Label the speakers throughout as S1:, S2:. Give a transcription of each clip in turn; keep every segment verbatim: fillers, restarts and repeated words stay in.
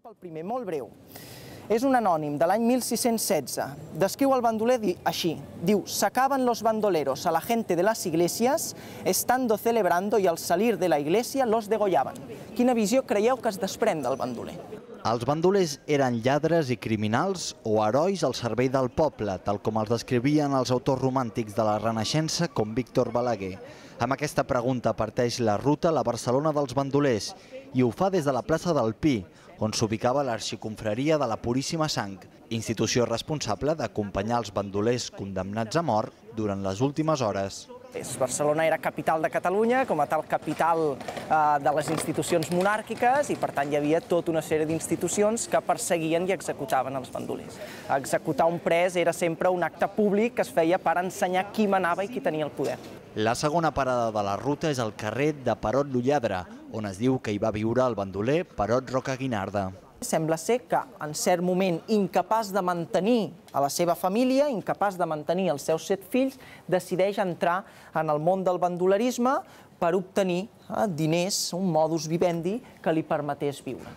S1: Pel primer, molt breu. És un anònim de l'any mil sis-cents setze. Descriu el bandoler així. Diu, sacaban los bandoleros a la gente de las iglesias, estando celebrando y al salir de la iglesia los degollaban. Quina visió creieu que es desprèn del bandoler?
S2: Els bandolers eren lladres i criminals o herois al servei del poble, tal com els descrivien els autors romàntics de la Renaixença com Víctor Balaguer. Amb aquesta pregunta parteix la ruta a la Barcelona dels bandolers i ho fa des de la plaça del Pi, on s'ubicava l'Arxiconfraria de la Puríssima Sang, institució responsable d'acompanyar els bandolers condemnats a mort durant les últimes hores.
S1: Barcelona era capital de Catalunya, com a tal capital de les institucions monàrquiques, i per tant hi havia tota una sèrie d'institucions que perseguien i executaven els bandolers. Executar un pres era sempre un acte públic que es feia per ensenyar qui manava i qui tenia el poder.
S2: La segona parada de la ruta és el carrer de Perot lo Lladre, on es diu que hi va viure el bandoler Perot Rocaguinarda.
S1: Sembla ser que, en cert moment, incapaç de mantenir a la seva família, incapaç de mantenir els seus set fills, decideix entrar en el món del bandolerisme per obtenir diners, un modus vivendi que li permetés viure.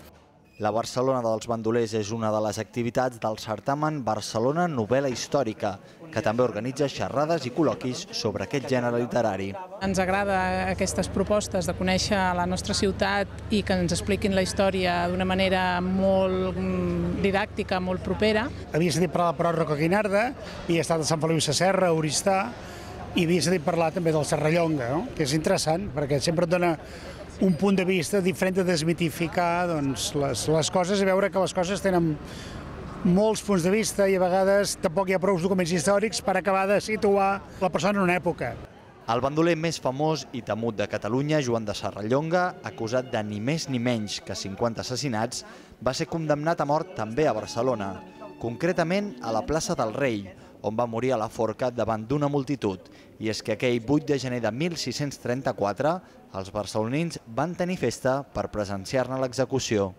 S2: La Barcelona dels bandolers és una de les activitats del certamen Barcelona Novel·la Històrica, que també organitza xerrades i col·loquis sobre aquest gènere literari.
S3: Ens agrada aquestes propostes de conèixer la nostra ciutat i que ens expliquin la història d'una manera molt didàctica, molt propera.
S4: Havia sentit parlar de Perot Rocaguinarda, havia estat a Sant Feliu Sasserra, a Oristà, i havia sentit parlar també del Serrallonga, que és interessant perquè sempre et dona un punt de vista diferent de desmitificar les coses i veure que les coses tenen molts punts de vista i a vegades tampoc hi ha prou documents històrics per acabar de situar la persona en una època.
S2: El bandoler més famós i temut de Catalunya, Joan de Serrallonga, acusat de ni més ni menys que cinquanta assassinats, va ser condemnat a mort també a Barcelona, concretament a la plaça del Rei, on va morir a la forca davant d'una multitud. I és que aquell vuit de gener de mil sis-cents trenta-quatre els barcelonins van tenir festa per presenciar-ne l'execució.